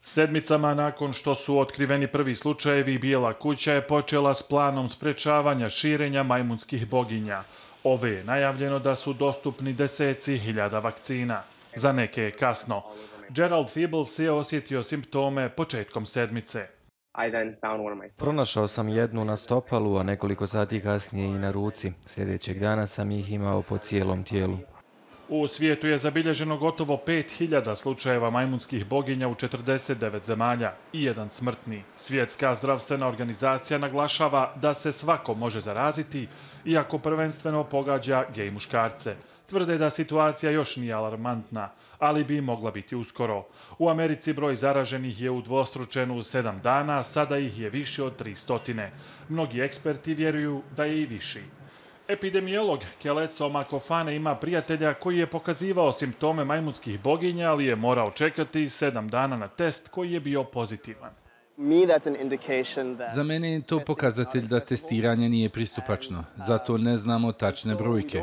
Sedmicama nakon što su otkriveni prvi slučajevi, Bijela kuća je počela s planom sprečavanja širenja majmunskih boginja. Ove je najavljeno da su dostupni deseci hiljada vakcina. Za neke je kasno. Gerald Feebles je osjetio simptome početkom sedmice. Pronašao sam jednu na stopalu, a nekoliko sati kasnije i na ruci. Sljedećeg dana sam ih imao po cijelom tijelu. U svijetu je zabilježeno gotovo 5000 slučajeva majmunskih boginja u 49 zemalja i jedan smrtni. Svjetska zdravstvena organizacija naglašava da se svako može zaraziti, iako prvenstveno pogađa gej muškarce. Tvrde da situacija još nije alarmantna, ali bi mogla biti uskoro. U Americi broj zaraženih je udvostručen u 7 dana, sada ih je više od 300. Mnogi eksperti vjeruju da je i viši. Epidemiolog Keleco Makofane ima prijatelja koji je pokazivao simptome majmunskih boginja, ali je morao čekati 7 dana na test koji je bio pozitivan. Za mene je to pokazatelj da testiranje nije pristupačno, zato ne znamo tačne brojke.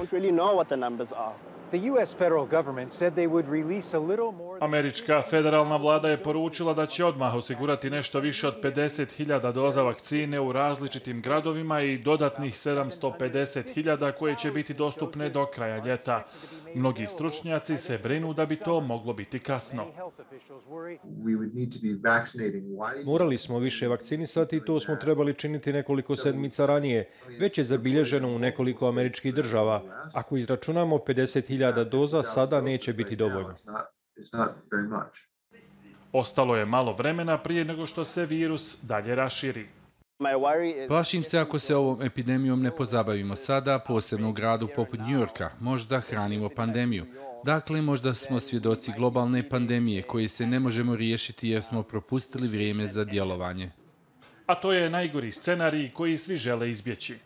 Američka federalna vlada je poručila da će odmah osigurati nešto više od 50.000 doza vakcine u različitim gradovima i dodatnih 750.000 koje će biti dostupne do kraja ljeta. Mnogi stručnjaci se brinu da bi to moglo biti kasno. Morali smo više vakcinisati i to smo trebali činiti nekoliko sedmica ranije. Već je zabilježeno u nekoliko američkih država. Ako izračunamo 50.000 doza, sada neće biti dovoljno. Ostalo je malo vremena prije nego što se virus dalje raširi. Plašim se ako se ovom epidemijom ne pozabavimo sada, posebno u gradu poput New Yorka, možda hranimo pandemiju. Dakle, možda smo svjedoci globalne pandemije koje se ne možemo riješiti jer smo propustili vrijeme za djelovanje. A to je najgori scenarij koji svi žele izbjeći.